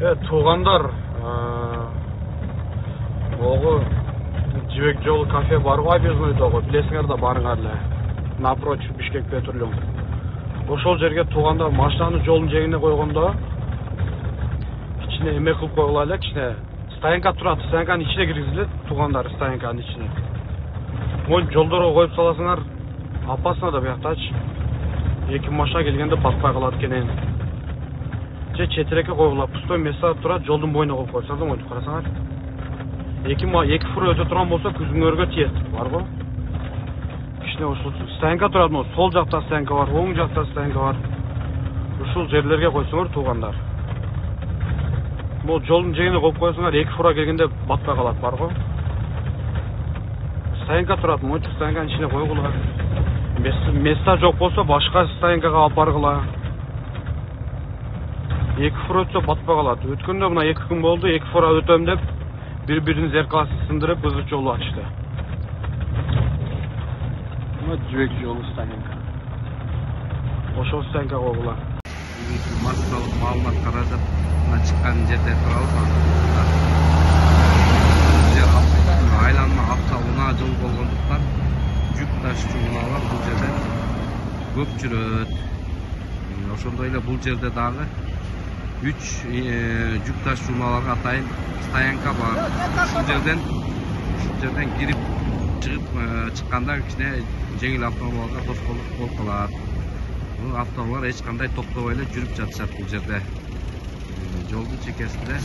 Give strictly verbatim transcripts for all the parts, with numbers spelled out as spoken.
Э, туугандар, могу Жибек жолу кафе барго объезднойдогу, билесиңер да барыңар эле. Напротив Бишкек Петролиум. Ошол жерге туугандар машинаны жолдун жээгине койгондо ичине эме кылып койгула эле, кичине стоянка турат, стоянканын ичине киргизилет туугандар, стоянканын ичине. Могу жолдорго коюп саласыңар, опасно да бияктачы. Эки машина келгенде батпай калат экен. Же четирекке койгула, пустой место турат, жолдун боюна коюп койсоңар да монтип карасаңар. Эки эки фура өтө турган болсо күзүңөргө тиет, барбы? Кичине ушул стоянка турат, могу сол жакта стоянка бар, оң жакта стоянка бар. Ушул жерлерге койсоңор туугандар. Могу жолдун жээгине коюп койсоңар, эки фура келгенде батпай калат, барбы? Стоянка турат, монтип стоянканын ичине койгула. Места жок болсо башка стоянкага алып баргыла. Эки фура өтсө батпай калат. Өткөндө мына эки күн болду, эки фура өтөм деп бири-биринин зеркаласын сындырып ызы жолу ачты. Мына Жибек жолу стоянка. Ошол стоянка койгула. Массалык маалымат каражат чыккан жерде турабыз. Жер айланма автоунаа жол болгондуктан жүк ташуучу унаалар бул жерде көп жүрөт. Ошондой эле бул жерде дагы үч жүк ташуучу унааларга атайын стоянка бар. Ушул жерден ушул жерден кирип чыгып чыкканда кичине жеңил автоунааларга тоскоолдук болуп калат. Бул автоунаалар эч кандай токтобой эле жүрүп жатышат бул жерде. Жолдун чекесинде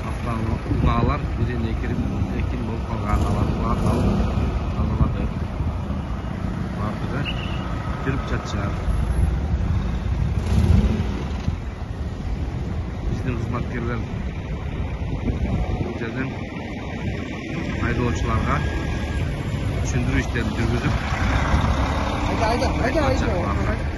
автоунаалар бирин экин экин болуп калган, аларды тазаладык. Бардыгы жүрүп жатышат. Биздин кызматкерлер бул жерден айдоочуларга түшүндүрүү иштерин жүргүзүп, айда айда айда айда